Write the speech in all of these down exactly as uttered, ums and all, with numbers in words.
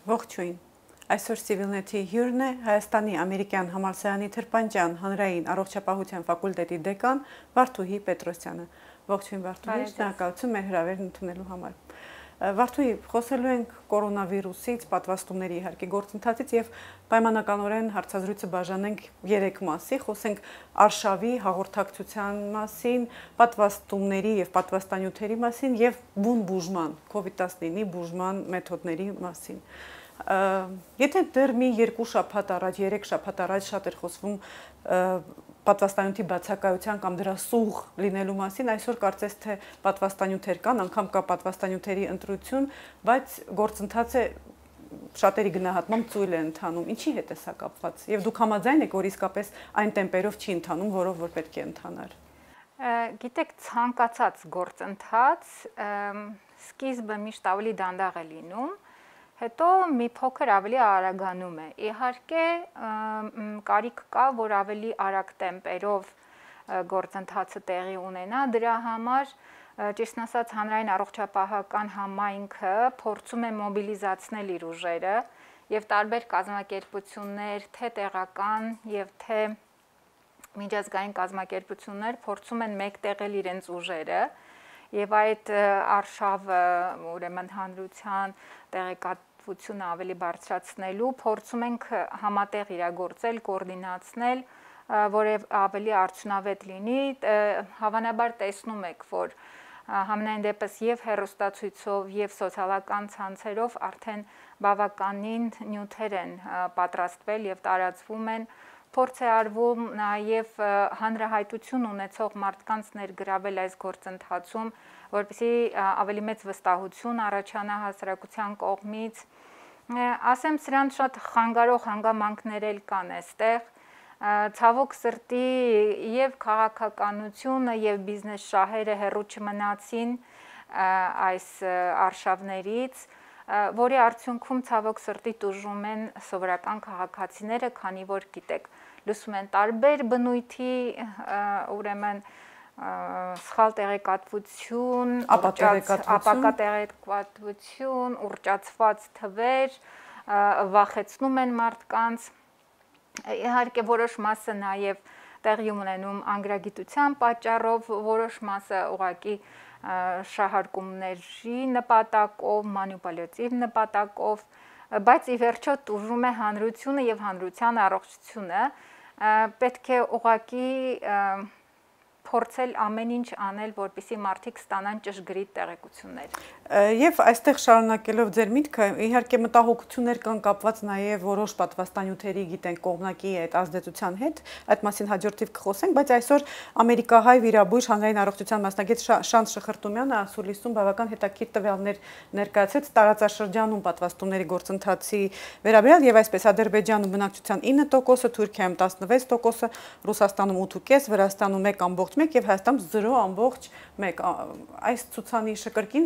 Ողջույն։ Այսօր Civilnet-ի հյուրն է Հայաստանի ամերիկյան համալսարանի Թրպանջյան հանրային առողջապահության ֆակուլտետի դեկան Վարդուհի Պետրոսյանը։ Ողջույն Վարդուհի, շնորհակալություն մեր հրավերն ընդունելու համար։ Վարդուհի, խոսելու ենք կորոնավիրուսից, պատվաստումների իհարկե գործընթացից եւ պայմանականորեն հարցազրույցը բաժանենք երեք մասի, խոսենք արշավի հաղորդակցության մասին, պատվաստումների եւ պատվաստանյութերի մասին եւ բուն բուժման, COVID տասնինի բուժման մեթոդների մասին։ Եթե դեռ մի երկու շաբաթ առաջ, երեք շաբաթ առաջ շատ էր խոսվում պատվաստանյութի բացակայության կամ դրա սուղ լինելու մասին, այսօր կարծես թե պատվաստանյութեր կան, անգամ կա պատվաստանյութերի ընտրություն, բայց գործընթացը շատերի գնահատմամբ ծույլ է ընթանում։ Ինչի հետ է սա կապված։ Եվ դուք համաձայն եք, որ իսկապես այն տեմպերով չի ընթանում, որով որ պետք է ընթանար։ Գիտեք, ցանկացած գործընթաց սկիզբը միշտ ավելի դանդաղ է լինում, հետո մի փոքր ավելի արագանում է։ Իհարկե կարիք կա, որ ավելի արագ տեմպերով գործընթացը տեղի ունենա, դրա համար ճիշտն ասած հանրային առողջապահական համայնքը փորձում է մոբիլիզացնել իր ուժերը եւ տարբեր կազմակերպություններ, թե տեղական եւ թե միջազգային կազմակերպություններ փորձում են մեկտեղել իրենց ուժերը եւ այդ արշավը, ուրեմն հանրության տեղեկատվությունը ավելի բարձրացնելու փորձում ենք համատեղ իրագործել, կոորդինացնել, որև ավելի արդյունավետ լինի, հավանաբար տեսնում եք, որ համենայն դեպս եւ հեռուստացույցով եւ սոցիալական ցանցերով արդեն բավականին նյութեր են պատրաստվել եւ տարածվում են, փորձ է արվում նաեւ հանրահայտություն ունեցող մարդկանց ներգրավել այս գործընթացում, որպեսզի ավելի մեծ վստահություն առաջանա հասարակության կողմից։ Ասեմ, սրանց շատ խանգարող հանգամանքներ էլ կան այստեղ։ Ցավոք սրտի եւ քաղաքականությունը եւ բիզնես շահերը հեռու չմնացին այս արշավներից, որի արդյունքում ցավոք սրտի տուժում են սովորական քաղաքացիները, քանի որ գիտեք, լսում են տարբեր բնույթի, ուրեմն սխալ տեղեկատվություն, ապակա տեղեկատվություն, ուռճացված թվեր, վախեցնում են մարդկանց։ Իհարկե որոշ մասը նաև տեղի ունենում անգրագիտության պատճառով, որոշ մասը ուղղակի շահարկումների նպատակով, մանիպուլյատիվ նպատակով, բայց ի վերջո տուժում է հանրությունը եւ հանրության առողջությունը, պետք է ուղղակի փորձել ամեն ինչ անել, որպեսզի մարդիկ ստանան ճշգրիտ տեղեկություններ։ Եվ այստեղ շարունակելով ձեր միտքը, իհարկե մտահոգություններ կան կապված նաև որոշ պատվաստանյութերի, գիտենք, կողմնակի այդ ազդեցության հետ, այդ մասին հաջորդիվ կխոսենք, բայց այսօր ամերիկահայ վիրաբույժ հանրային առողջության մասնագետ Շանթ Շխրտումյանը ասուլիսում բավական հետաքրքիր տվյալներ ներկայացրեց տարածաշրջանում պատվաստումների գործընթացի վերաբերյալ եւ այսպես Ադրբեջանում բնակչության ինը տոկոսը, Թուրքիայում տասնվեց տոկոսը, Ռուսաստանում ութ կես տոկոս, Վրաստանում մեկ ամբողջ մեկ եւ Հայաստանում զրո ամբողջ մեկ։ Այս ցուցանիշը կրկին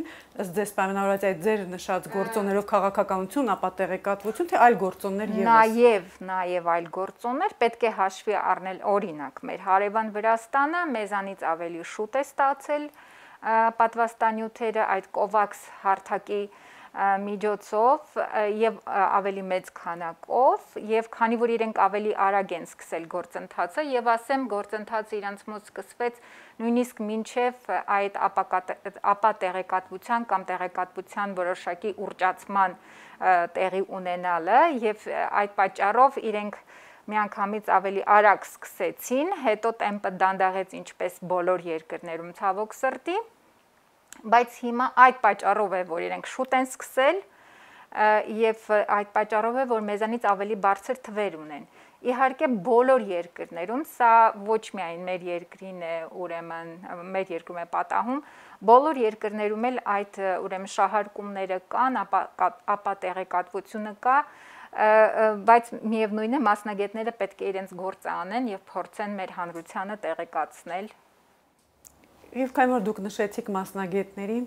ձեզ պայմանավորված այդ ձեր նշած գործոններով քաղաքականություն, ապա տեղեկատվություն, թե այլ գործոններ եւս։ Նաեւ, նաեւ այլ գործոններ պետք է հաշվի առնել, օրինակ, մեր հարևան Վրաստանը մեզանից ավելի շուտ է ստացել պատվաստանյութերը այդ COVAX հարթակի միջոցով եւ ավելի մեծ քանակով եւ քանի որ իրենք ավելի արագ են սկսել գործընթացը եւ ասեմ գործընթացը իրանց մոտ սկսվեց նույնիսկ մինչեւ այդ ապա տեղեկատվության կամ տեղեկատվության որոշակի ուռճացման տեղի ունենալը եւ այդ պատճառով իրենք միանգամից ավելի արագ սկսեցին, հետո տեմպը դանդաղեց ինչպես բոլոր երկրներում ցավոք սրտի, բայց հիմա այդ պատճառով է, որ իրենք շուտ են սկսել եւ այդ պատճառով է, որ մեզանից ավելի բարձր թվեր ունեն։ Իհարկե բոլոր երկրներում, սա ոչ միայն մեր երկրին է, ուրեմն մեր երկրում է պատահում, բոլոր երկրներում էլ այդ ուրեմն շահարկումները կան, ապա տեղեկատվությունը կա, բայց միևնույն է մասնագետները պետք է իրենց գործը անեն եւ փորձեն մեր հանրությանը տեղեկացնել։ Եվ քանի որ դուք նշեցիք մասնագետներին,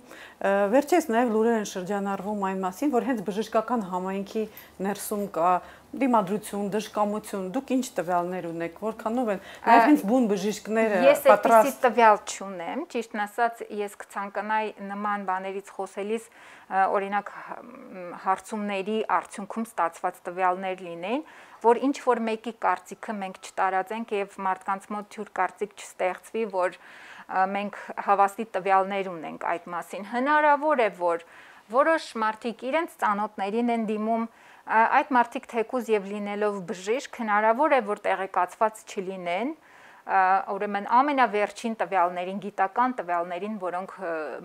վերջերս նաև լուրեր են շրջանառվում այն մասին, որ հենց բժշկական համայնքի ներսում կա դիմադրություն, դժկամություն, դուք ինչ տվյալներ ունեք, որքանով են նաև հենց բուն բժիշկները պատրաստ։ Ես այդպիսի տվյալ չունեմ, ճիշտն ասած, ես կցանկանայի նման բաներից խոսելիս օրինակ հարցումների արդյունքում ստացված տվյալներ լինեն, որ ինչ որ մեկի կարծիքը մենք չտարածենք եւ մարդկանց մոտ թյուր կարծիք չստեղծվի, որ մենք հավաստի տվյալներ ունենք այդ մասին։ Հնարավոր է, որ որոշ մարդիկ իրենց ծանոթներին են դիմում, այդ մարդիկ թեկուզ եւ լինելով բժիշկ, հնարավոր է, որ տեղեկացված չլինեն, ուրեմն ամենավերջին տվյալներին, գիտական տվյալներին, որոնք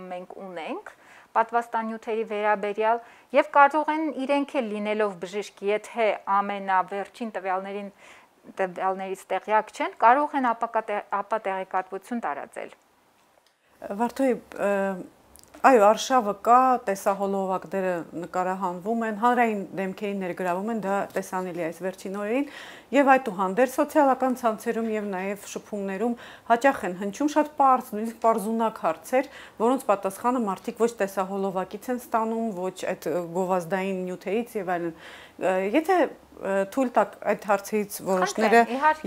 մենք ունենք, պատվաստանյութերի վերաբերյալ եւ կարող են իրենք էլ լինելով բժիշկ, եթե ամենավերջին տվյալներին տվյալներից տեղյակ չեն, կարող են ապա տեղեկատվություն տարածել։ Վարդուհի, այո, արշավը կա, տեսահոլովակները նկարահանվում են, հանրային դեմքերին ներգրավում են, դա տեսանելի է այս վերջին օրերին, եւ այդուհանդերձ սոցիալական ցանցերում եւ նաեւ շփումներում հաճախ են հնչում շատ պարզ, նույնիսկ պարզունակ հարցեր, որոնց պատասխանը մարդիկ ոչ տեսահոլովակից են ստանում, ոչ այդ գովազդային նյութերից եւ այլն։ Եթե թույլ տաք այդ հարցից որոշները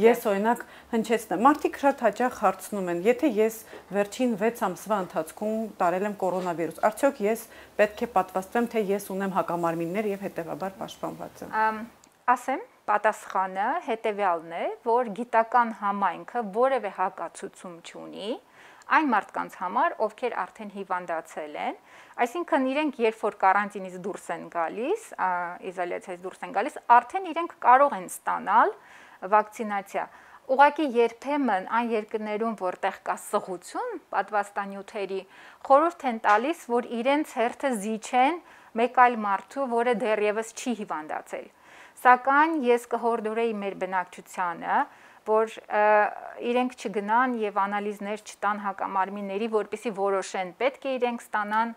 ես օրինակ հնչեցնեմ։ Մարդիկ շատ հաճախ հարցնում են, եթե ես վերջին վեց ամսվա ընթացքում տարել եմ կորոնավիրուս, արդյոք ես պետք է պատվաստվեմ, թե ես ունեմ հակամարմիններ եւ հետեւաբար պաշտպանված եմ։ Ասեմ, պատասխանը հետեւյալն է, որ գիտական համայնքը որևէ հակացուցում չունի այն մարդկանց համար, ովքեր արդեն հիվանդացել են, այսինքն իրենք երբ որ կարանտինից դուրս են գալիս, իզոլյացիայից դուրս են գալիս, արդեն իրենք կարող են ստանալ վակցինացիա։ Ուղղակի երբեմն այն երկրներում, որտեղ կա սղություն պատվաստանյութերի, խորհուրդ են տալիս, որ իրենց հերթը զիջեն մեկ այլ մարդու, որը դեռևս չի հիվանդացել։ Սակայն ես կհորդորեի մեր բնակչությանը, որ իրենք չգնան եւ անալիզներ չտան հակամարմինների, որպեսզի որոշեն պետք է իրենք ստանան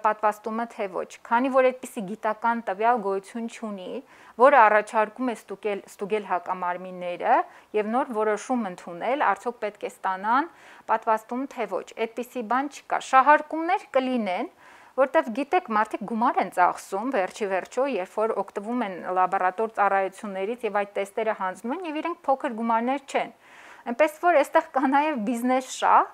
պատվաստումը թե ոչ, քանի որ այդպիսի գիտական տվյալ գոյություն չունի, որը առաջարկում է ստուգել ստուգել հակամարմինները եւ նոր որոշում ընդունել, արդյոք պետք է ստանան պատվաստում թե ոչ, այդպիսի բան չկա։ Շահարկումներ կլինեն, որտեվ գիտեք, մարդիկ գումար են ծախսում, վերջի վերջո, երբ որ օգտվում են լաբորատոր ծառայություններից եւ այդ տեստերը հանձնում են եւ իրենք փոքր գումարներ չեն։ Այնպես որ այստեղ կա նաեւ բիզնես շահ,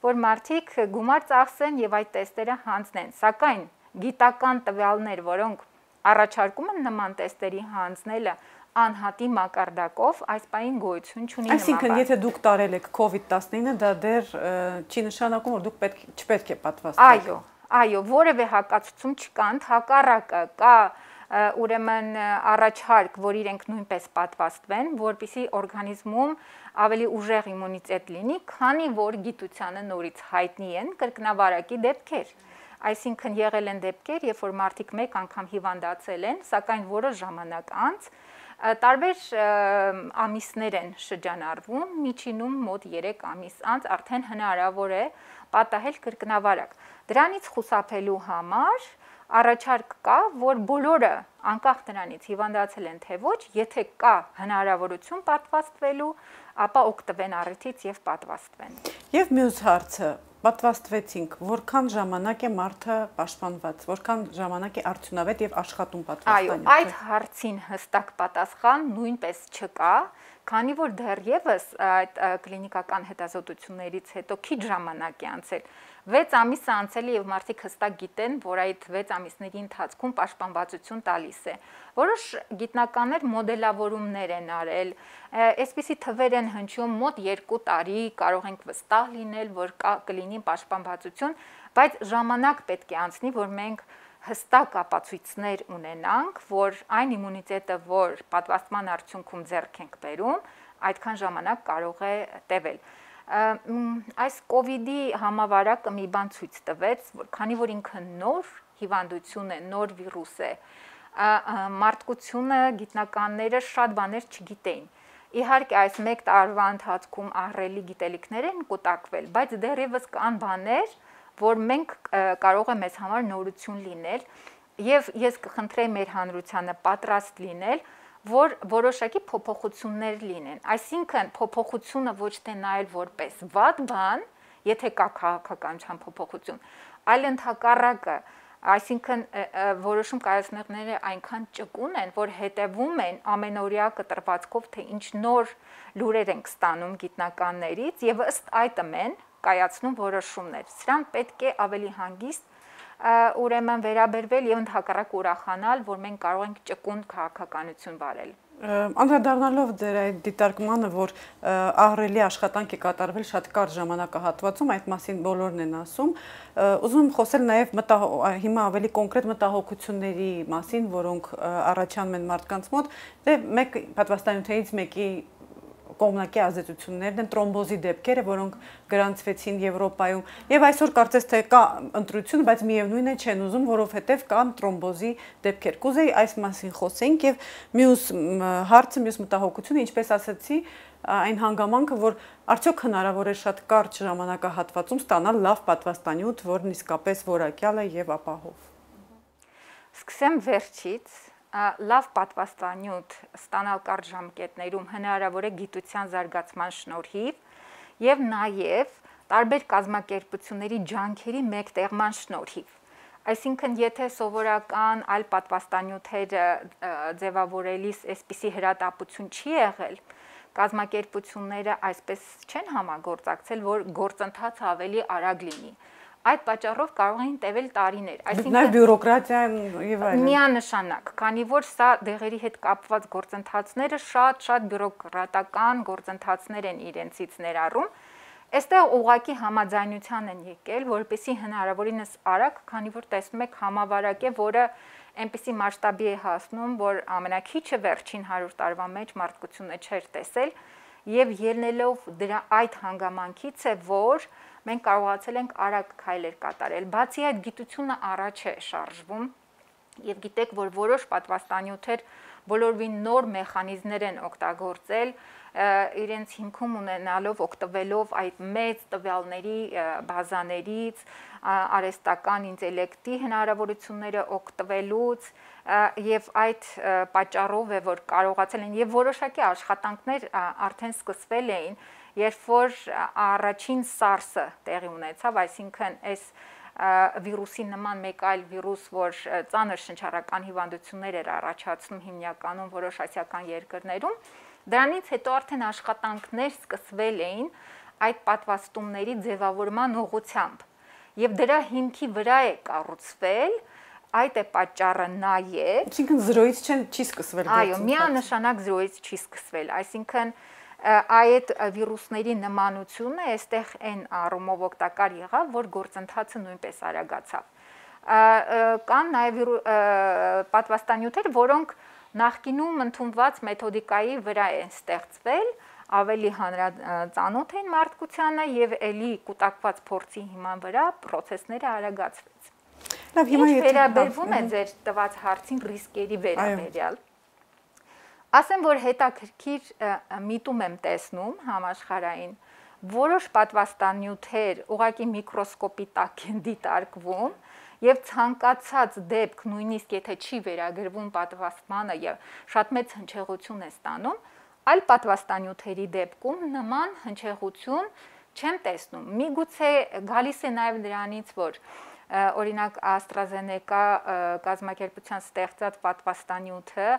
որ մարդիկ գումար ծախսեն եւ այդ տեստերը հանձնեն, սակայն գիտական տվյալներ, որոնք առաջարկում են նման տեստերի հանձնելը անհատի մակարդակով, այս պահին գոյություն չունի։ Այսինքն, եթե դուք տարել եք կովիդ տասնինը, դա դեռ չի նշանակում, որ դուք պետք չպետք է պատվաստվեք։ Այո, այո, որևէ հակացուցում չկա, հակառակը կա ուրեմն առաջարկ, որ իրենք նույնպես պատվաստվեն, որպեսզի օրգանիզմում ավելի ուժեղ իմունիտետ լինի, քանի որ գիտությանը նորից հայտնի են կրկնավարակի դեպքեր։ Այսինքն եղել են դեպքեր, երբ որ մարդիկ մեկ անգամ հիվանդացել են, սակայն որոշ ժամանակ անց տարբեր ամիսներ են շրջանառվում, միջինում մոտ երեք ամիս անց արդեն հնարավոր է պատահել կրկնավարակ։ Դրանից խուսափելու համար առաջարկ կա, որ բոլորը անկախ նրանից հիվանդացել են թե ոչ, եթե կա հնարավորություն պատվաստվելու, ապա օգտվեն առիթից եւ պատվաստվեն։ Եվ մյուս հարցը, պատվաստվեցինք, որքան ժամանակ է մարդը պաշտպանված, որքան ժամանակ է արդյունավետ եւ աշխատում պատվաստանյութը։ Այո, այդ հարցին հստակ պատասխան նույնպես չկա, քանի որ դեռևս այդ կլինիկական հետազոտություններից հետո քիչ ժամանակ է անցել։ վեց ամիս է անցել եւ մարդիկ հստակ գիտեն, որ այդ վեց ամիսների ընթացքում պաշտպանվածություն տալիս է։ Որոշ գիտնականներ մոդելավորումներ են արել, այսպիսի թվեր են հնչում մոտ երկու տարի, կարող ենք վստահ լինել, որ կա կլինի պաշտպանվածություն, բայց ժամանակ պետք է անցնի, որ մենք հստակ ապացույցներ ունենանք, որ այն իմունիտետը, որ պատվաստման արդյունքում ձեռք ենք բերում, այդքան ժամանակ կարող է տևել։ Այս կովիդի համավարակը մի բան ցույց տվեց, որ քանի որ ինքը նոր հիվանդություն է, նոր վիրուս է, մարդկությունը, գիտնականները շատ բաներ չգիտեին։ Իհարկե այս մեկ տարվա ընթացքում ահռելի գիտելիքներ են կուտակվել, բայց դեռևս կան բաներ, որ մենք կարող է մեզ համար նորություն լինել եւ ես կխնդրեի մեր հանրությանը պատրաստ լինել, որ որոշակի փոփոխություններ լինեն։ Այսինքն փոփոխությունը ոչ թե նայել որպես վատ բան, եթե կա քաղաքականության փոփոխություն, այլ ընդհակառակը Այսինքն որոշում կայացնողները այնքան ճկուն են, որ հետևում են ամենօրյա կտրվածքով, թե ինչ նոր լուրեր ենք ստանում գիտնականներից եւ ըստ այդմ են կայացնում որոշումներ։ Սրանք պետք է ավելի հանգիստ ուրեմն վերաբերվել եւ ընդհակառակ ուրախանալ, որ մենք կարող ենք ճկուն քաղաքականություն վարել։ Անդրադառնալով ձեր այդ դիտարկմանը, որ ահռելի աշխատանք է կատարվել շատ կարճ ժամանակահատվածում, այդ մասին բոլորն են ասում, ուզում եմ խոսել նաև հիմա ավելի կոնկրետ մտահոգությունների մասին, որոնք առաջանում են մարդկանց մոտ, դե մեկ պատվաստանյութերից մեկի կողմնակի ազդեցություններն են տրոմբոզի դեպքերը, որոնք գրանցվեցին Եվրոպայում, եւ այսօր կարծես թե կա ընտրություն, բայց միևնույն է չեն ուզում, որովհետեւ կան տրոմբոզի դեպքեր։ Կուզեի այս մասին խոսենք եւ մյուս հարցը, մյուս մտահոգությունը, ինչպես ասացի, այն հանգամանքը, որ արդյոք հնարավոր է շատ կարճ ժամանակահատվածում ստանալ լավ պատվաստանյութ, որն իսկապես որակյալ է եւ ապահով։ Սկսեմ վերջից։ Լավ պատվաստանյութ ստանալ կարճ ժամկետներում հնարավոր է գիտության զարգացման շնորհիվ եւ նաեւ տարբեր կազմակերպությունների ջանքերի մեկտեղման շնորհիվ։ Այսինքն, եթե սովորական այլ պատվաստանյութերը ձևավորելիս այսպիսի հրատապություն չի եղել, կազմակերպությունները այսպես չեն համագործակցել, որ գործընթացը ավելի արագ լինի։ Այդ պատճառով կարող են տևել տարիներ, այսինքն բյուրոկրատիան եւ այլն։ Միանշանակ, քանի որ սա դեղերի հետ կապված գործընթացները շատ-շատ բյուրոկրատական գործընթացներ են իրենցից ներառում, այստեղ ուղղակի համաձայնության են եկել, որպեսզի հնարավորինս արագ, քանի որ տեսնում եք համավարակ է, որը այնպիսի մասշտաբի է հասնում, որ ամենակիչը վերջին հարյուր տարվա մեջ մարդկությունը չէր տեսել, եւ ելնելով դրա այդ հանգամանքից է, որ մենք կարողացել ենք արագ քայլեր կատարել։ Բացի այդ, գիտությունը առաջ է շարժվում եւ գիտեք, որ որոշ պատվաստանյութեր բոլորովին նոր մեխանիզմներ են օգտագործել, իրենց հիմքում ունենալով օգտվելով այդ մեծ տվյալների բազաներից, արհեստական ինտելեկտի հնարավորությունները օգտվելուց եւ այդ պատճառով է, որ կարողացել են եւ որոշակի աշխատանքներ արդեն սկսվել էին, երբ որ առաջին SARS-ը տեղի ունեցավ, այսինքն այս վիրուսի նման մեկ այլ վիրուս, որ ծանր շնչառական հիվանդություններ էր առաջացնում հիմնականում որոշ ասիական երկրներում, դրանից հետո արդեն աշխատանքներ սկսվել էին այդ պատվաստումների ձևավորման ուղղությամբ եւ դրա հիմքի վրա է կառուցվել, այդ է պատճառը նաեւ, այսինքն զրոյից չի սկսվել գործընթացը։ Այո, միանշանակ զրոյից չի սկսվել, այսինքն այդ վիրուսների նմանությունը այստեղ այն առումով օգտակար եղավ, որ գործընթացը նույնպես արագացավ։ Կան նաև պատվաստանյութեր, որոնք նախկինում ընդունված մեթոդիկայի վրա են ստեղծվել, ավելի հանրածանոթ են մարդկությանը եւ ելի կուտակված փորձի հիման վրա process-ները արագացվեց։ Լավ, հիմա եթե վերաբերվում է ձեր տված հարցին ռիսկերի վերաբերյալ, ասեմ, որ հետաքրքիր միտում եմ տեսնում համաշխարհային, որոշ պատվաստանյութեր ուղղակի միկրոսկոպի տակ են դիտարկվում եւ ցանկացած դեպք, նույնիսկ եթե չի վերագրվում պատվաստմանը եւ շատ մեծ հնչեղություն է ստանում, այլ պատվաստանյութերի դեպքում նման հնչեղություն չեմ տեսնում։ Միգուցե գալիս է նաեւ դրանից, որ օրինակ AstraZeneca կազմակերպության ստեղծած պատվաստանյութը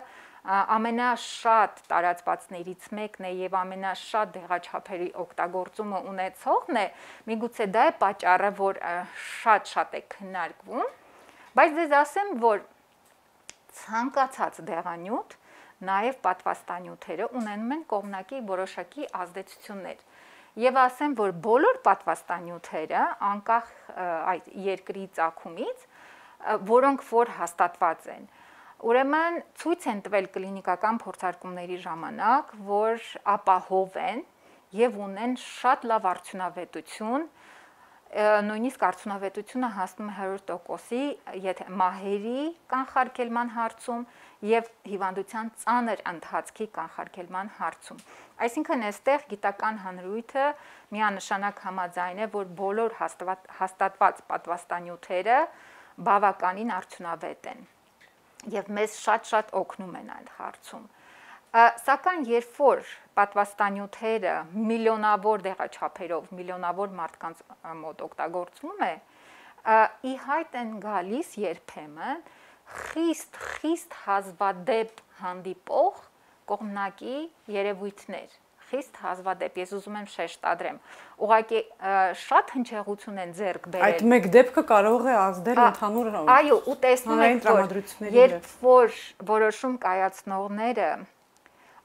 ամենաշատ տարածվածներից մեկն է եւ ամենաշատ դեղաչափերի օգտագործումը ունեցողն է, միգուցե դա է պատճառը, որ շատ-շատ է քննարկվում, բայց դες ասեմ, որ ցանկացած դեղանյութ, նաեւ պատվաստանյութերը ունենում են կողմնակի որոշակի ազդեցություններ։ Եվ ասեմ, որ բոլոր պատվաստանյութերը, անկախ այդ երկրի ծագումից, որոնք որ հաստատված են, ուրեմն ցույց են տվել կլինիկական փորձարկումների ժամանակ, որ ապահով են եւ ունեն շատ լավ արդյունավետություն, նույնիսկ արդյունավետությունը հասնում է հարյուր տոկոսի, եթե մահերի կանխարգելման հարցում եւ հիվանդության ծանր ընթացքի կանխարգելման հարցում։ Այսինքն այստեղ գիտական հանրույթը միանշանակ համաձայն է, որ բոլոր հաստատված պատվաստանյութերը բավականին արդյունավետ են եւ մեզ շատ-շատ օգնում են այդ հարցում։ Սակայն երբ որ պատվաստանյութերը միլիոնավոր դեղաչափերով, միլիոնավոր մարդկանց մոտ օգտագործվում է, ի հայտ են գալիս երբեմն խիստ խիստ հազվադեպ հանդիպող կողմնակի երևույթներ, խիստ հազվադեպ, ես ուզում եմ շեշտադրեմ, ուղղակի շատ հնչեղություն են ձեռք բերել։ Այդ մեկ դեպքը կարող է ազդել ընդհանուր այո, ու տեսնում եք, որ երբ որ որոշում կայացնողները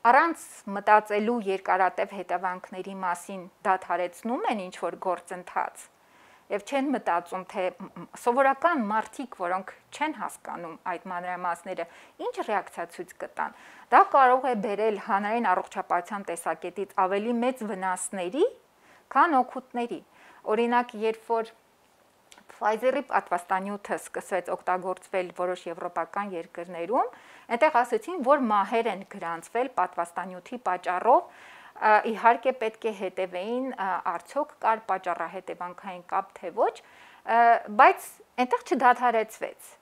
առանց մտածելու երկարատև հետևանքների մասին դադարեցնում են ինչ-որ գործընթաց եւ չեն մտածում, թե սովորական մարդիկ, որոնք չեն հասկանում այդ մանրամասները, ինչ ռեակցիա ցույց կտան, դա կարող է բերել հանրային առողջապահության տեսակետից ավելի մեծ վնասների, քան օգուտների։ Օրինակ, երբ որ Pfizer-ի պատվաստանյութը սկսեց օգտագործվել որոշ եվրոպական երկրներում, այնտեղ ասեցին, որ մահեր են գրանցվել պատվաստանյութի պատճառով, իհարկե պետք է հետևեին արդյոք կար պատճառահետևանքային կապ թե ոչ, բայց այնտեղ չդադարեցվեց։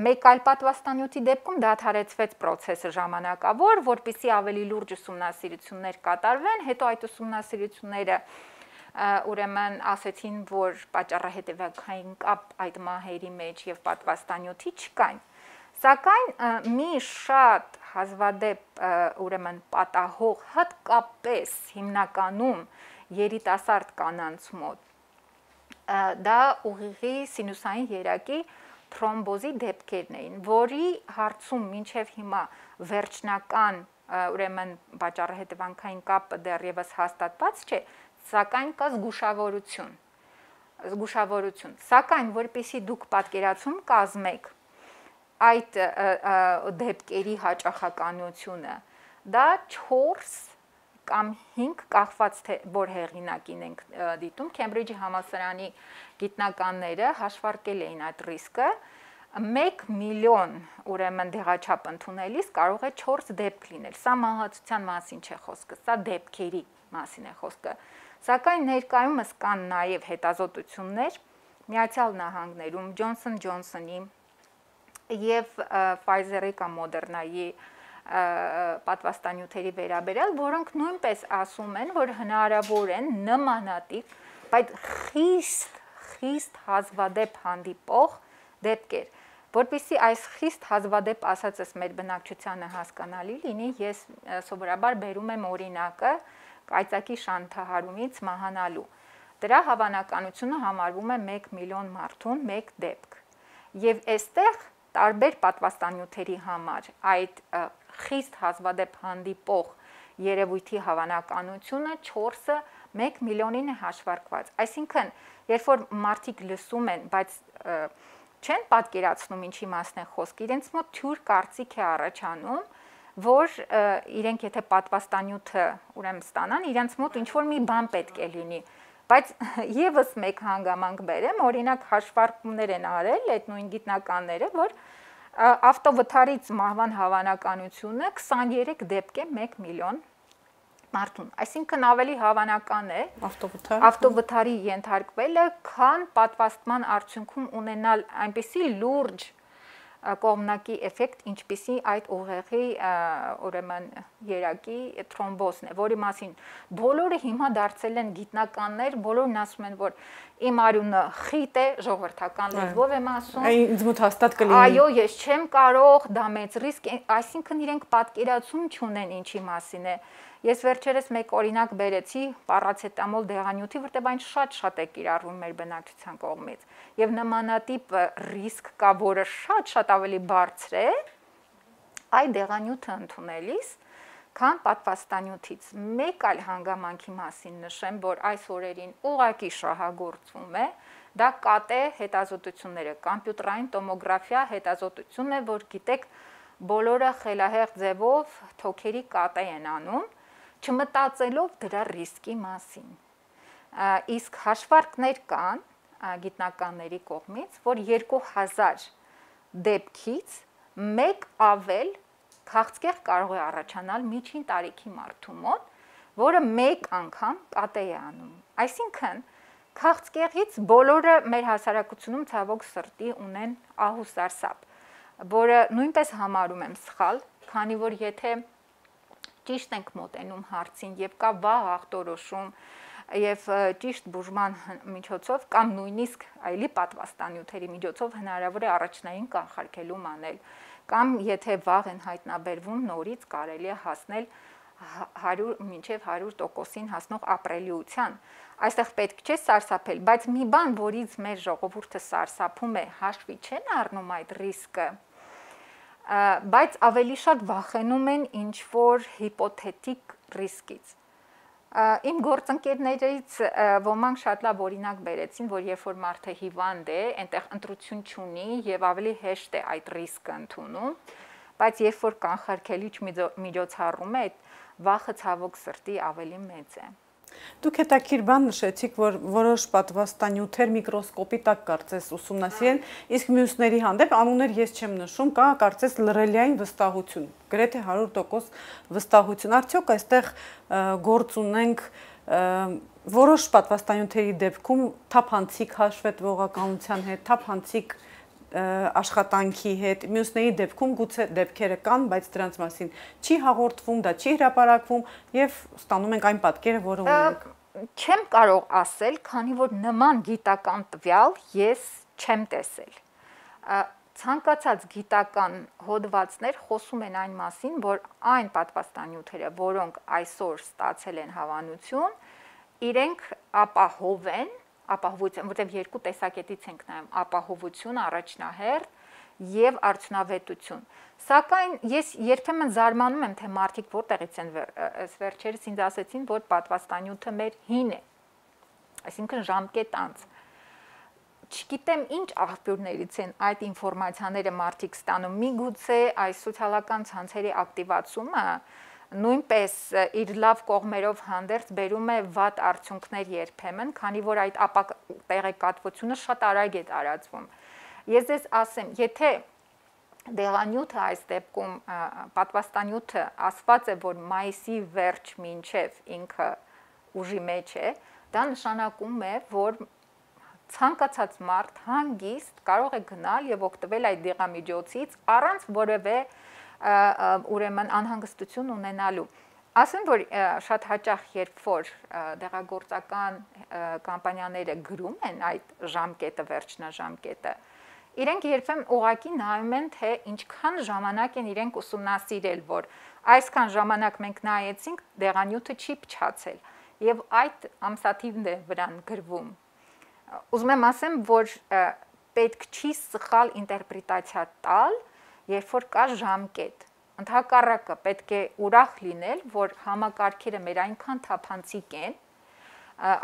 Մեկ այլ պատվաստանյութի դեպքում դադարեցվեց process-ը ժամանակավոր, որպեսզի ավելի լուրջ ուսումնասիրություններ կատարվեն, հետո այդ ուսումնասիրությունները ուրեմն ասեցին, որ պատճառահետևանքային կապ այդ մահերի մեջ եւ պատվաստանյութի չկային։ Սակայն մի շատ հազվադեպ ուրեմն պատահող հատկապես հիմնականում երիտասարդ կանանց մոտ դա ուղիղի սինուսային երակի թրոմբոզի դեպքերն էին, որի հարցում մինչև հիմա վերջնական ուրեմն պատճառահետևանքային կապը դեռևս հաստատված չէ, սակայն կա զգուշավորություն։ Զգուշավորություն։ Սակայն որպեսզի դուք պատկերացում կազմեք այդ դեպքերի հաճախականությունը, դա չորս կամ հինգ կախված թե որ հեղինակին ենք դիտում, Քեմբրիջի համալսարանի գիտնականները հաշվարկել էին այդ ռիսկը, մեկ միլիոն ուրեմն դեղաչափ ընդունելիս կարող է չորս դեպք լինել։ Սա մահացության մասին չէ խոսքը, սա դեպքերի մասին է խոսքը։ Սակայն ներկայումս կան նաև հետազոտություններ Միացյալ Նահանգներում Johnson Johnson-ի եւ Pfizer-ի կամ Moderna-ի պատվաստանյութերի վերաբերյալ, որոնք նույնպես ասում են, որ հնարավոր են նմանատիպ, բայց խիստ խիստ հազվադեպ հանդիպող դեպքեր, որպեսզի այս խիստ հազվադեպ ասածս մեր բնակչությանը հասկանալի լինի, ես սովորաբար բերում եմ օրինակը կայծակի շանթահարումից մահանալու։ Դրա հավանականությունը համարվում է մեկ միլիոն մարդուն մեկ դեպք։ Եվ այստեղ տարբեր պատվաստանյութերի համար այդ խիստ հազվադեպ հանդիպող երևույթի հավանականությունը չորսը մեկ միլիոնին է հաշվարկված։ Այսինքն, երբ որ մարդիկ լսում են, բայց չեն պատկերացնում ինչի մասն է խոսքը, իրենց մոտ թյուր կարծիք է առաջանում, որ իրենք եթե պատվաստանյութը ուրեմն ստանան, իրենց մոտ ինչ-որ մի բան պետք է լինի, բայց եւս մեկ հանգամանք բերեմ, օրինակ հաշվարկումներ են արել այդ նույն գիտնականները, որ ավտովթարից մահվան հավանականությունը քսաներեք դեպք է մեկ միլիոն մարդուն, այսինքն ավելի հավանական է ավտովթարի ենթարկվելը, քան պատվաստման արդյունքում ունենալ այնպիսի լուրջ կողմնակի էֆեկտ, ինչպիսի այդ ուղեղի ուրեմն երակի թրոմբոզն է, որի մասին բոլորը հիմա դարձել են գիտնականներ, բոլորն ասում են, որ իմ արյունը խիտ է, ժողովրդական լեզվով եմ ասում։ Ինձ մոտ հաստատ կլինի։ Այո, ես չեմ կարող, դա մեծ ռիսկ է, այսինքն իրենք պատկերացում չունեն ինչի մասին է։ Ես վերջերս մեկ օրինակ բերեցի պարացետամոլ դեղանյութի, որտեղ այն շատ-շատ է կիրառվում մեր բնակչության կողմից։ Եվ նմանատիպ ռիսկ կա, որը շատ-շատ ավելի բարձր է այդ դեղանյութը ընդունելիս, քան պատվաստանյութից։ Մեկ այլ հանգամանքի մասին նշեմ, որ այս օրերին ուղղակի շահագործվում է, դա կատ է հետազոտությունները, կոմպյուտերային տոմոգրաֆիա հետազոտությունն է, որ գիտեք, բոլորը խելահեղ ձևով թոքերի կատե են անում, չմտածելով դրա ռիսկի մասին։ Իսկ հաշվարկներ կան գիտնականների կողմից, որ երկու հազար դեպքից մեկ ավել քաղցկեղ կարող է առաջանալ միջին տարիքի մարդու մոտ, որը մեկ անգամ կատե է անում։ Այսինքն, քաղցկեղից բոլորը մեր հասարակությունում ցավոք սրտի ունեն ահուսարսափ, որը նույնպես համարում եմ սխալ, քանի որ եթե ճիշտ ենք մոտենում հարցին եւ կա վաղ ախտորոշում, եւ ճիշտ բուժման միջոցով կամ նույնիսկ այլի պատվաստանյութերի միջոցով հնարավոր է առաջնային կանխարգելում անել կամ եթե վաղ են հայտնաբերվում նորից կարելի է հասնել հարյուր մինչև հարյուր տոկոսին հասնող ապրելիության։ Այստեղ պետք չէ սարսափել, բայց մի բան, որից մեր ժողովուրդը սարսափում է, հաշվի չեն առնում այդ ռիսկը, բայց ավելի շատ վախենում են ինչ որ հիպոթետիկ ռիսկից։ Իմ գործընկերներից ոմանք շատ լավ օրինակ բերեցին, որ երբ որ մարդը հիվանդ է, այնտեղ ընտրություն չունի եւ ավելի հեշտ է այդ ռիսկը ընդունում, բայց երբ որ կանխարգելիչ միջոցառում է, այդ վախը ցավոք սրտի ավելի մեծ է։ Դուք հետաքրքիր բան նշեցիք, որ որոշ պատվաստանյութեր միկրոսկոպի տակ կարծես ուսումնասիրեն, իսկ մյուսների հանդեպ անուններ ես չեմ նշում, կա կարծես լռելիային վստահություն, գրեթե հարյուր տոկոս վստահություն։ Արդյոք այստեղ գործ ունենք որոշ պատվաստանյութերի դեպքում թափանցիկ հաշվետվողականության հետ, թափանցիկ աշխատանքի հետ, մյուսների դեպքում գուցե դեպքերը կան, բայց դրանց մասին չի հաղորդվում, դա չի հրապարակվում եւ ստանում ենք այն պատկերը, որը ունենք։ Չեմ կարող ասել, քանի որ նման գիտական տվյալ ես չեմ տեսել։ Ցանկացած գիտական հոդվածներ խոսում են այն մասին, որ այն պատվաստանյութերը, որոնք այսօր ստացել են հավանություն, իրենք ապահով են ապահովություն, որտեղ երկու տեսակետից ենք նայում՝ ապահովություն առաջնահերթ եւ արդյունավետություն։ Սակայն ես երբեմն զարմանում եմ, թե մարդիկ որտեղից են վերջերս ինձ ասեցին, որ պատվաստանյութը մեր հին է, այսինքն ժամկետ անց։ Չգիտեմ ինչ աղբյուրներից են այդ ինֆորմացիաները մարդիկ ստանում։ Միգուցե այս սոցիալական ցանցերի ակտիվացումը նույնպես իր լավ կողմերով հանդերձ բերում է վատ արդյունքներ երբեմն, քանի որ այդ տեղեկատվությունը շատ արագ է տարածվում։ Ես ձեզ ասեմ, եթե դեղանյութը այս դեպքում պատվաստանյութը ասված է, որ մայիսի վերջ մինչև ինքը ուժի մեջ է, դա նշանակում է, որ ցանկացած մարդ հանգիստ կարող է գնալ եւ օգտվել այդ դեղամիջոցից առանց որևէ ուրեմն անհանգստություն ունենալու։ Ասեմ, որ շատ հաճախ երբ որ դեղագործական կամպանիաները գրում են այդ ժամկետը, վերջնաժամկետը, իրենք երբեմն ուղղակի նայում են, թե ինչքան ժամանակ են իրենք ուսումնասիրել, որ այսքան ժամանակ մենք նայեցինք, դեղանյութը չի փչացել, եւ այդ ամսաթիվն է վրան գրվում։ Ուզում եմ ասեմ, որ պետք չի սխալ ինտերպրետացիա տալ, երբ որ կա ժամկետ։ Ընդհակառակը պետք է ուրախ լինել, որ համակարգերը մեր այնքան թափանցիկ են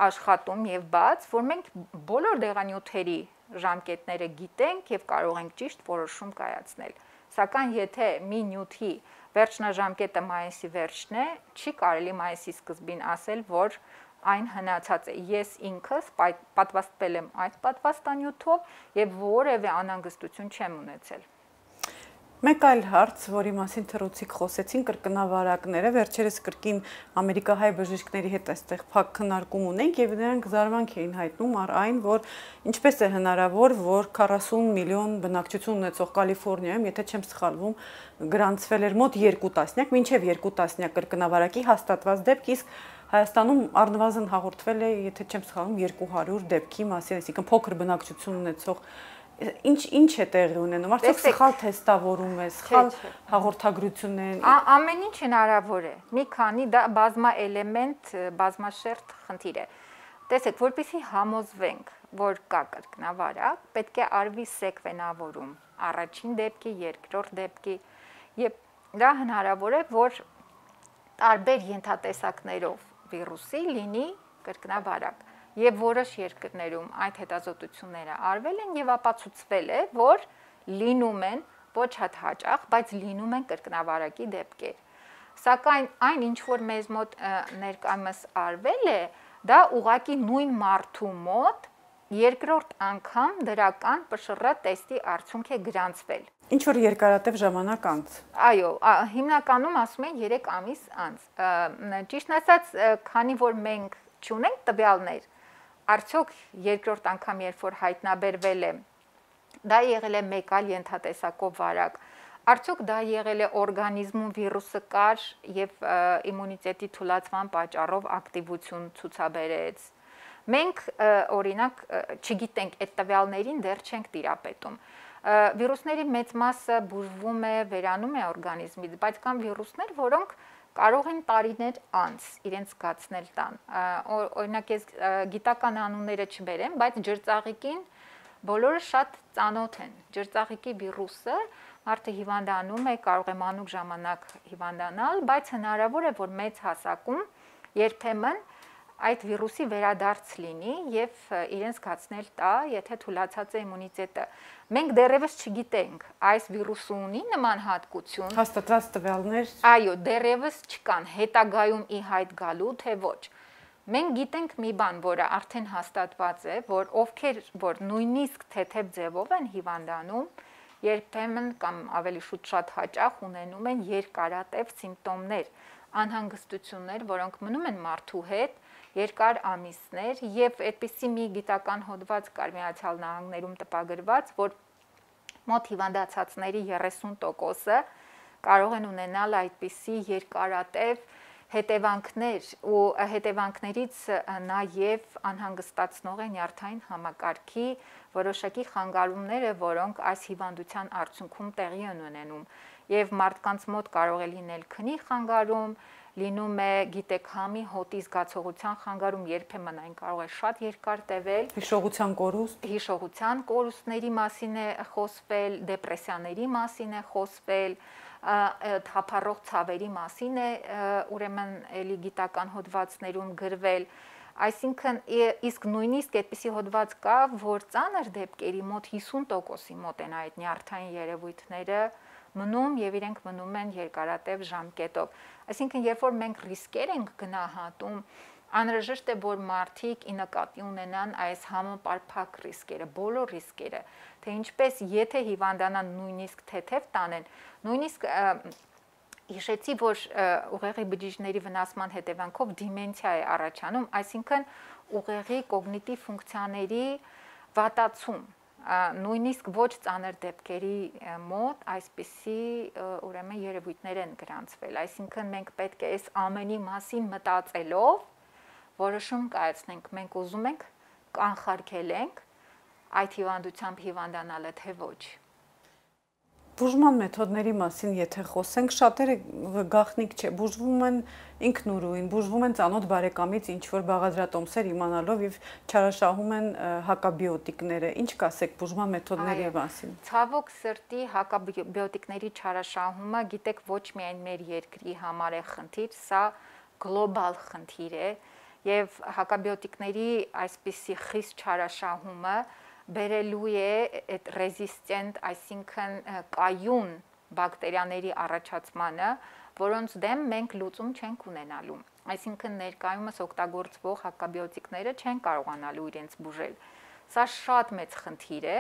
աշխատում եւ բաց, որ մենք բոլոր դեղանյութերի ժամկետները գիտենք եւ կարող ենք ճիշտ որոշում կայացնել։ Սակայն եթե մի նյութի վերջնաժամկետը մայիսի վերջն է, չի կարելի մայիսի սկզբին ասել, որ այն հնացած է։ Ես ինքս պատվաստվել եմ այդ պատվաստանյութով եւ որևէ անհանգստություն չեմ ունեցել։ Մեկ այլ հարց, որի մասին թռուցիկ խոսեցին, կրկնավարակները, վերջերս կրկին ամերիկահայ բժիշկների հետ այստեղ փակ քննարկում ունենք եւ նրանք զարմանք էին հայտնում առ այն, որ ինչպես է հնարավոր, որ քառասուն միլիոն բնակչություն ունեցող Կալիֆոռնիայում, եթե չեմ սխալվում, գրանցվել էր մոտ երկու տասնյակ, մինչև երկու տասնյակ կրկնավարակի հաստատված դեպք, իսկ Հայաստանում առնվազն հաղորդվել է, եթե չեմ սխալվում, երկու հարյուր դեպքի մասին, այսինքն փոքր բնակչություն ունեցող Ինչ ինչ է տեղի ունենում, արդյոք սխալ թեստավորում է, սխալ հաղորդագրություններ։ Ամեն ինչ հնարավոր է։ Մի քանի դա բազմաէլեմենտ, բազմաշերտ խնդիր է։ Տեսեք, որպեսզի համոզվենք, որ կա կրկնավարակ, պետք է արվի սեկվենավորում առաջին դեպքի, երկրորդ դեպքի, եւ դա հնարավոր է, որ տարբեր ենթատեսակներով վիրուսի լինի կրկնավարակ։ Եվ որոշ երկրներում այդ հետազոտությունները արվել են եւ ապացուցվել է, որ լինում են ոչ հատ հաճախ, բայց լինում են կրկնավարակի դեպքեր։ Սակայն այն ինչ որ մեզ մոտ ներկայումս արվել է, դա ուղղակի նույն մարդու մոտ երկրորդ անգամ դրական Պ Շ R տեստի արդյունք է գրանցվել։ Ինչ որ երկարատև ժամանակ անց։ Այո, հիմնականում ասում են երեք ամիս անց։ Ճիշտն ասած, քանի որ մենք չունենք տվյալներ, արդյոք երկրորդ անգամ երբ որ հայտնաբերվել է, դա եղել է մեկ այլ ենթատեսակով վարակ, Արդյոք դա եղել է օրգանիզմում վիրուսը կար եւ իմունիտետի թուլացման պատճառով ակտիվություն ցուցաբերեց։ Մենք օրինակ չգիտենք այդ տվյալներին դեռ չենք տիրապետում։ Վիրուսների մեծ մասը բուժվում է, վերանում է օրգանիզմից, բայց կան վիրուսներ, որոնք կարող են տարիներ անց իրենց զգացնել տան։ Օրինակ ես գիտական անունները չբերեմ, բայց ջրծաղիկին բոլորը շատ ծանոթ են։ Ջրծաղիկի վիրուսը մարդը հիվանդանում է, կարող է մանուկ ժամանակ հիվանդանալ, բայց հնարավոր է, որ մեծ հասակում երբեմն այդ վիրուսի վերադարձ լինի եւ իրենց զգացնել տա, եթե թուլացած է իմունիտետը։ Մենք դեռևս չգիտենք, այս վիրուսը ունի նման հատկություն։ Հաստատված տվյալներ։ Այո, դեռևս չկան, հետագայում ի հայտ գալու, թե ոչ։ Մենք գիտենք մի բան, որը արդեն հաստատված է, որ ովքեր որ նույնիսկ թեթև ձևով են հիվանդանում, երբեմն կամ ավելի շուտ շատ հաճախ ունենում են երկարատև սիմպտոմներ, անհանգստություններ, որոնք մնում են մարդու հետ երկար ամիսներ եւ այդպիսի մի գիտական հոդված կար Միացյալ Նահանգներում տպագրված, որ մոտ հիվանդացածների երեսուն տոկոսը կարող են ունենալ այդպիսի երկարատև հետևանքներ ու հետևանքներից նաև անհանգստացնող են նյարդային համակարգի որոշակի խանգարումները, որոնք այս հիվանդության արդյունքում տեղի են ունենում եւ մարդկանց մոտ կարող է լինել քնի խանգարում, լինում է գիտեք համի հոտի զգացողության խանգարում, երբեմն այն կարող է շատ երկար տևել, հիշողության կորուստ, հիշողության կորուստների մասին է խոսվել, դեպրեսիաների մասին է խոսվել, թափառող ցավերի մասին է ուրեմն էլի գիտական հոդվածներում գրվել, այսինքն իսկ նույնիսկ այդպիսի հոդված կա, որ ծանր դեպքերի մոտ հիսուն տոկոսի մոտ են այդ նյարդային երևույթները մնում եւ իրենք մնում են երկարատև ժամկետով։ Այսինքն երբ որ մենք ռիսկեր ենք գնահատում, անհրաժեշտ է որ մարդիկ ի նկատի ունենան այս համապարփակ ռիսկերը, բոլոր ռիսկերը, թե ինչպես եթե հիվանդանան նույնիսկ թեթև տանեն, նույնիսկ հիշեցի, որ ուղեղի բջիջների վնասման հետևանքով դիմենցիա է առաջանում, այսինքն ուղեղի կոգնիտիվ ֆունկցիաների վատացում, նույնիսկ ոչ ծանր դեպքերի մոտ այսպիսի ուրեմն երևույթներ են գրանցվել, այսինքն մենք պետք է այս ամենի մասին մտածելով որոշում կայացնենք, մենք ուզում ենք կանխարգելենք այդ հիվանդությամբ հիվանդանալը, թե ոչ։ Բուժման մեթոդների մասին եթե խոսենք, շատերը գաղտնիք չէ, բուժվում են ինքնուրույն, բուժվում են ծանոթ բարեկամից ինչ-որ բաղադրատոմսեր իմանալով եւ չարաշահում են հակաբիոտիկները։ Ինչ կասեք բուժման մեթոդների մասին։ Ցավոք սրտի հակաբիոտիկների չարաշահումը, գիտեք, ոչ միայն մեր երկրի համար է խնդիր, սա գլոբալ խնդիր է եւ հակաբիոտիկների այսպիսի խիստ չարաշահումը բերելու է այդ ռեզիստենտ, այսինքն կայուն բակտերիաների առաջացմանը, որոնց դեմ մենք լուծում չենք ունենալու։ Այսինքն ներկայումս օգտագործվող հակաբիոտիկները չեն կարողանալու իրենց բուժել։ Սա շատ մեծ խնդիր է,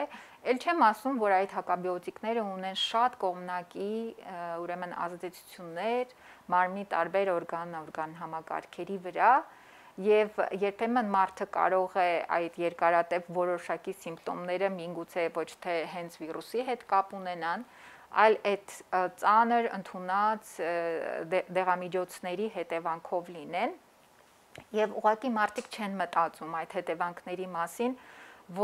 ել չեմ ասում, որ այդ հակաբիոտիկները ունեն շատ կողմնակի ուրեմն ազդեցություններ մարմնի տարբեր օրգան-օրգան համակարգերի վրա, եւ երբեմն մարդը կարող է այդ երկարատև որոշակի սիմպտոմները միգուցե ոչ թե հենց վիրուսի հետ կապ ունենան, այլ այդ ծանր ընդունած դեղամիջոցների հետևանքով լինեն եւ ուղղակի մարդիկ չեն մտածում այդ հետևանքների մասին,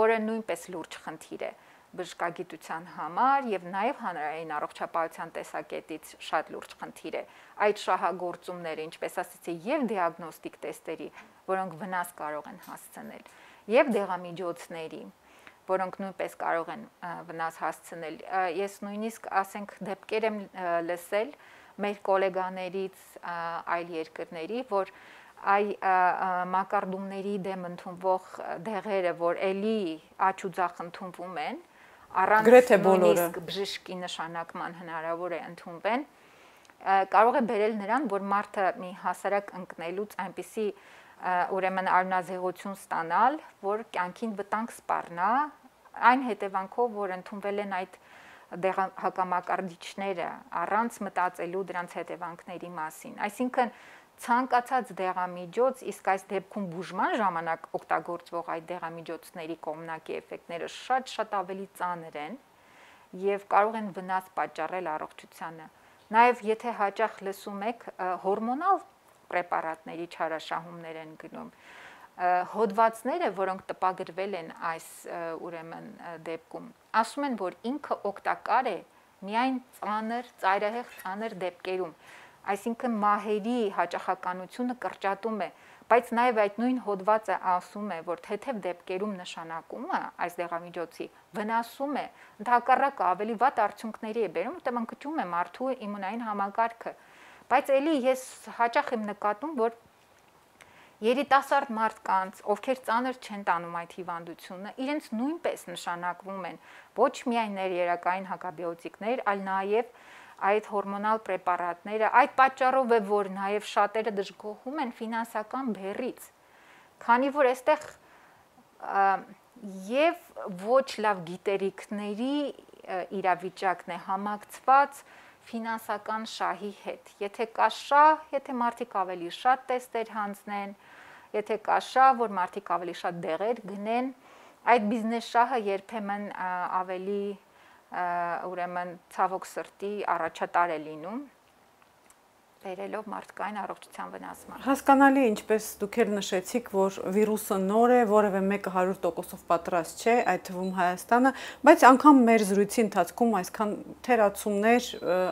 որը նույնպես լուրջ խնդիր է բժշկագիտության համար եւ նաեւ հանրային առողջապահության տեսակետից շատ լուրջ խնդիր է այդ շահագործումները, ինչպես ասեցի, եւ դիագնոստիկ տեստերի, որոնք վնաս կարող են հասցնել, եւ դեղամիջոցների, որոնք նույնպես կարող են վնաս հասցնել։ Ես նույնիսկ ասենք դեպքեր եմ լսել մեր գոլեգաներից այլ երկրների, որ այ մակարդումների դեմ ընդունվող դեղերը, որ էլի աճ ու ձախ ընդունվում են, առանց նույնիսկ բժշկի նշանակման հնարավոր է ընդունվեն, կարող է բերել նրան, որ մարդը մի հասարակ ընկնելուց այնպիսի ուրեմն արյունազեղություն ստանալ, որ կյանքին վտանգ սպառնա, այն հետևանքով, որ ընդունվել են այդ հակամակարդիչները առանց մտածելու դրանց հետևանքների մասին։ Այսինքն ցանկացած դեղամիջոց, իսկ այս դեպքում բուժման ժամանակ օգտագործվող այդ դեղամիջոցների կողմնակի էֆեկտները շատ-շատ ավելի ծանր են եւ կարող են վնաս պատճառել առողջությանը։ Նաեւ եթե հաճախ լսում եք հորմոնալ պրեպարատների չարաշահումներ են գնում, հոդվածները, որոնք տպագրվել են այս ուրեմն դեպքում, ասում են, որ ինքը օգտակար է միայն ծանր, ծայրահեղ ծանր դեպքերում, այսինքն մահերի հաճախականությունը կրճատում է, բայց նաև այդ նույն հոդվածը ասում է, որ թեթև դեպքերում նշանակումը այս դեղամիջոցի վնասում է, ընդհակառակը ավելի վատ արդյունքների է բերում, որտեղ ընկճում է մարդու իմունային համակարգը, բայց էլի ես հաճախ եմ նկատում, որ երիտասարդ մարդկանց, ովքեր ծանր չեն տանում այդ հիվանդությունը, իրենց նույնպես նշանակվում են ոչ միայն ներերակային հակաբիոտիկներ, այլ նաև այդ հորմոնալ պրեպարատները, այդ պատճառով է, որ նաև շատերը դժգոհում են ֆինանսական բեռից, քանի որ այստեղ եւ ոչ լավ գիտելիքների իրավիճակն է համակցված ֆինանսական շահի հետ։ Եթե կա շահ, եթե մարդիկ ավելի շատ տեստեր հանձնեն, եթե կա շահ, որ մարդիկ ավելի շատ դեղեր գնեն, այդ բիզնես շահը երբեմն ավելի ուրեմն ցավոք սրտի առաջատար է լինում, բերելով մարդկային առողջության վնասման։ Հասկանալի է, ինչպես դուք էլ նշեցիք, որ վիրուսը նոր է, որևէ մեկը հարյուր տոկոսով պատրաստ չէ, այդ թվում Հայաստանը, բայց անգամ մեր զրույցի ընթացքում այսքան թերացումներ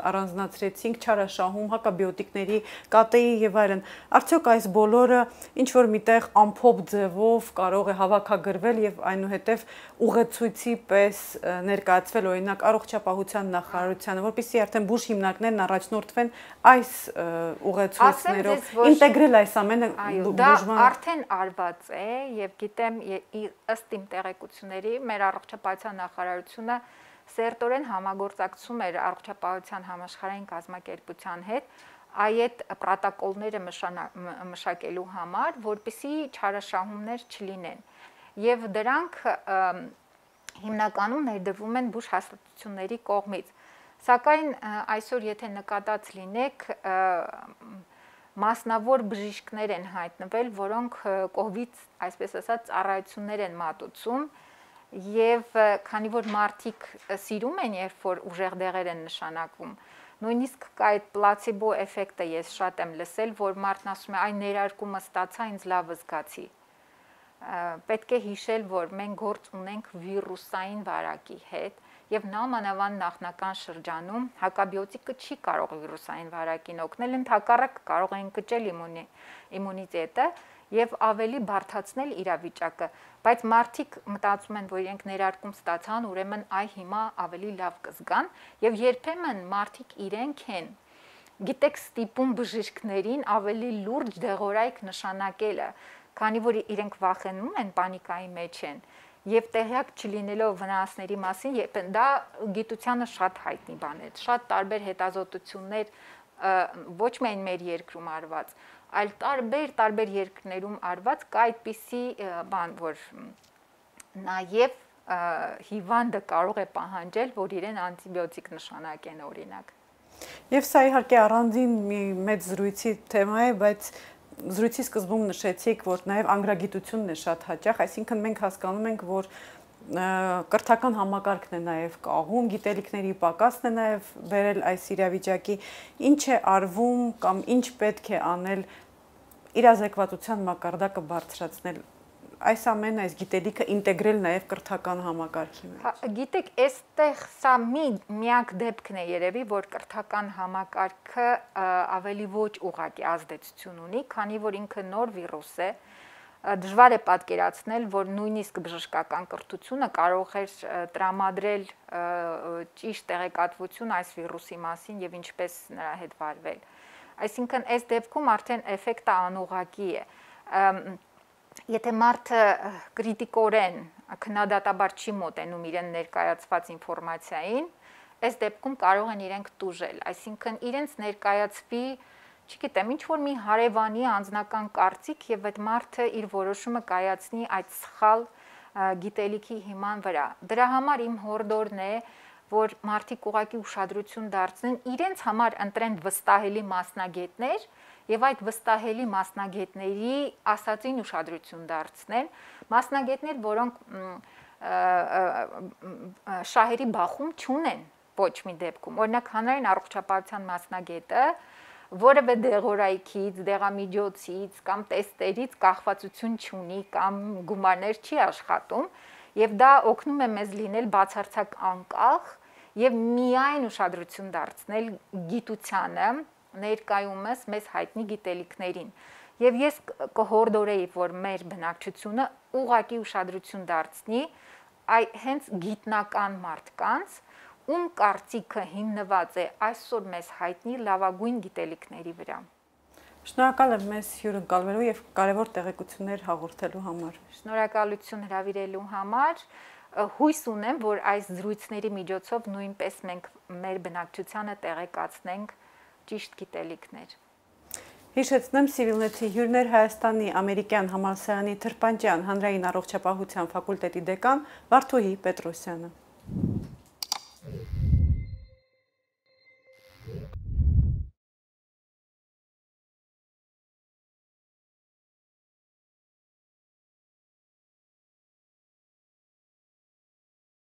առանձնացրեցինք, չարաշահում, հակաբիոտիկների, կատեի եւ այլն։ Արդյոք այս բոլորը ինչ որ միտեղ ամփոփ ձևով կարող է հավաքագրվել եւ այնուհետեւ ուղեցույցի պես ներկայացվել օրինակ առողջապահության նախարարությանը, որպեսզի արդեն բուժ հիմնարկներն առաջնորդվեն այս ուղեցույցներով ինտեգրել այս ամենը բուժման։ Դա արդեն արված է եւ գիտեմ ըստ իմ տեղեկությունների մեր առողջապահության նախարարությունը սերտորեն համագործակցում էր առողջապահության համաշխարհային կազմակերպության հետ այդ պրոտոկոլները մշակելու համար, որպեսզի չարաշահումներ չլինեն։ Եվ դրանք հիմնականում ներդրվում են բուժ հաստատությունների կողմից։ Սակայն այսօր եթե նկատած լինեք, մասնավոր բժիշկներ են հայտնվել, որոնք կողմից, այսպես ասած, ծառայություններ են մատուցում եւ քանի որ մարդիկ սիրում են, երբ որ ուժեղ դեղեր են նշանակվում, նույնիսկ կա այդ պլացիբո էֆեկտը, ես շատ եմ լսել, որ մարդն ասում է, այն ներարկումը ստացա, ինձ լավ զգացի։ Պետք է հիշել, որ մենք գործ ունենք վիրուսային վարակի հետ եւ նամանավանդ նախնական շրջանում հակաբիոտիկը չի կարող վիրուսային վարակին օգնել, ընդհակառակը կարող է ընկճել իմունիտետը եւ ավելի բարդացնել իրավիճակը, բայց մարդիկ մտածում են, որ իրենք ներարկում ստացան, ուրեմն այ հիմա ավելի լավ կզգան եւ երբեմն մարդիկ իրենք են գիտեք ստիպում բժիշկներին ավելի լուրջ դեղորայք նշանակելը, քանի որ իրենք վախենում են, պանիկայի մեջ են եւ տեղյակ չլինելով վնասների մասին, երբ դա գիտությանը շատ հայտնի բան է, շատ տարբեր հետազոտություններ ոչ միայն մեր երկրում արված, այլ տարբեր տարբեր երկրներում արված կա այդպիսի բան, որ նաեւ հիվանդը կարող է պահանջել, որ իրեն անտիբիոտիկ նշանակեն օրինակ։ Եվ սա իհարկե առանձին մի մեծ զրույցի թեմա է, բայց զրույցի սկզբում նշեցիք, որ նաև անգրագիտությունն է շատ հաճախ, այսինքն մենք հասկանում ենք, որ կրթական համակարգն է նաև կաղում, գիտելիքների պակասն է նաև բերել այս իրավիճակի, ինչ է արվում կամ ինչ պետք է անել իրազեկվածության մակարդակը բարձրացնել, այս ամենը, այս գիտելիքը ինտեգրել նաև կրթական համակարգի մեջ։ Գիտեք, այստեղ սա մի միակ դեպքն է երևի, որ կրթական համակարգը ավելի ոչ ուղղակի ազդեցություն ունի, քանի որ ինքը նոր վիրուս է, դժվար է պատկերացնել, որ նույնիսկ բժշկական կրթությունը կարող էր տրամադրել ճիշտ տեղեկատվություն այս վիրուսի մասին եւ ինչպես նրա հետ վարվել։ Այսինքն, այս դեպքում արդեն էֆեկտը անուղղակի է։ Եթե մարդը կրիտիկորեն քննադատաբար չի մոտենում իրեն ներկայացված ինֆորմացիային, այս դեպքում կարող են իրենք տուժել, այսինքն իրենց ներկայացվի, չգիտեմ, ինչ-որ մի հարևանի անձնական կարծիք եւ այդ մարդը իր որոշումը կայացնի այդ սխալ գիտելիքի հիման վրա։ Դրա համար իմ հորդորն է, որ մարդիկ ուղղակի ուշադրություն դարձնեն, իրենց համար ընտրեն վստահելի մասնագետներ եւ այդ վստահելի մասնագետների ասածին ուշադրություն դարձնեն, մասնագետներ, որոնք շահերի բախում չունեն ոչ մի դեպքում։ Օրինակ հանրային առողջապահության մասնագետը որևէ դեղորայքից, դեղամիջոցից կամ տեստերից կախվածություն չունի կամ գումարներ չի աշխատում, եւ դա օգնում է մեզ լինել բացարձակ անկախ եւ միայն ուշադրություն դարձնել գիտությանը, ներկայումս մեզ հայտնի գիտելիքներին։ Եվ ես կհորդորեի, որ մեր բնակչությունը ուղղակի ուշադրություն դարձնի այ հենց գիտնական մարդկանց, ում կարծիքը հիմնված է այսօր մեզ հայտնի լավագույն գիտելիքների վրա։ Շնորհակալ եմ մեզ հյուրընկալվելու եւ կարեւոր տեղեկություններ հաղորդելու համար։ Շնորհակալություն հրավիրելու համար։ Հույս ունեմ, որ այս զրույցների միջոցով նույնպես մենք մեր բնակչությանը տեղեկացնենք ճիշտ գիտելիքներ։ Հիշեցնեմ, Civilnet-ի հյուրներ Հայաստանի ամերիկյան համալսարանի Թրպանջյան հանրային առողջապահության ֆակուլտետի դեկան Վարդուհի Պետրոսյանը։